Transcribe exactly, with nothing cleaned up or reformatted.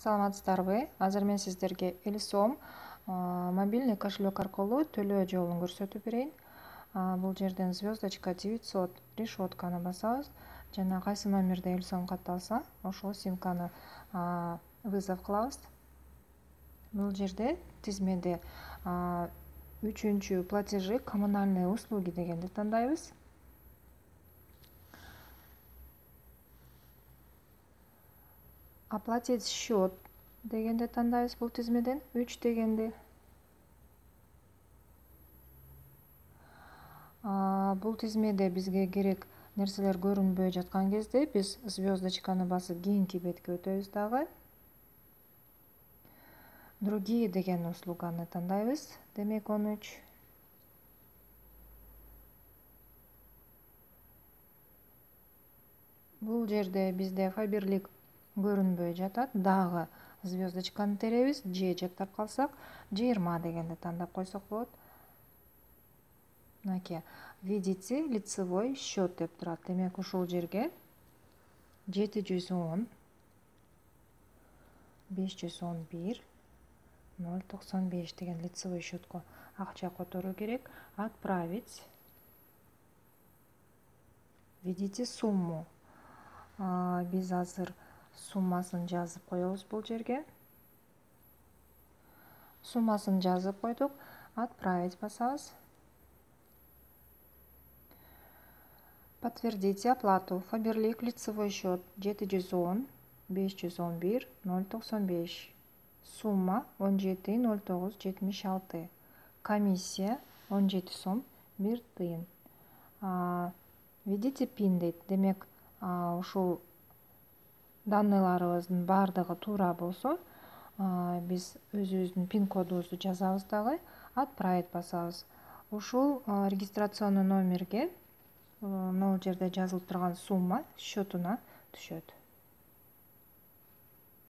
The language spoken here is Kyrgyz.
Саламатсыздарбы? Азыр мен сиздерге элүү сом мобильный кошелек аркылуу төлөө жолун көрсөтүп берейин. Бул жерден звездочка девятьсот решетканы басабыз жана кайсы номерде элүү сом катталса, ошол симканы вызов кылабыз. Бул жерде тизмеде үчүнчү платежи коммунальные услуги дегенди тандайбыз. Оплатить счет дегенди тандайбыз бул тизмеден, үч дегенди. Бул тизмеде бизге керек нерселер көрүнбөй жаткан кезде биз звездочканы басып кийинки бетке өтөбүз дагы. Другие деген услуганы тандайбыз, демек он үч. Бул жерде бизде фаберлик көрүнбөй жатат, дагы звездочканы теребиз, же жактап калсак жыйырма дегенди тандап койсок болот. Мынакей, видите лицевой счет деп турат. Демек ушул жерге жети жүз он, беш жүз он бир, ноль токсон беш деген лицевой счетко акча которуу керек. Отправить. Видите сумму. Биз азыр суммасын жазып коебуз бул жерге. Суммасын жазып койдук. Отправить басабыз. Подтвердите оплату. Фаберлик лицевой счет жети жүз он, беш жүз он бир, ноль токсон беш. Сумма он жети ноль тогуз жетимиш алты. Комиссия он жети сом бир тыйын. Видите пин дейт. Демек ушул данныйларыбыздын баардыгы туура болсо, биз өзүбүздүн пин кодубузду жазабыз дагы, отправить басабыз. Ушул регистрационный номерге могул жерде жазылып турган сумма счетуна түшөт.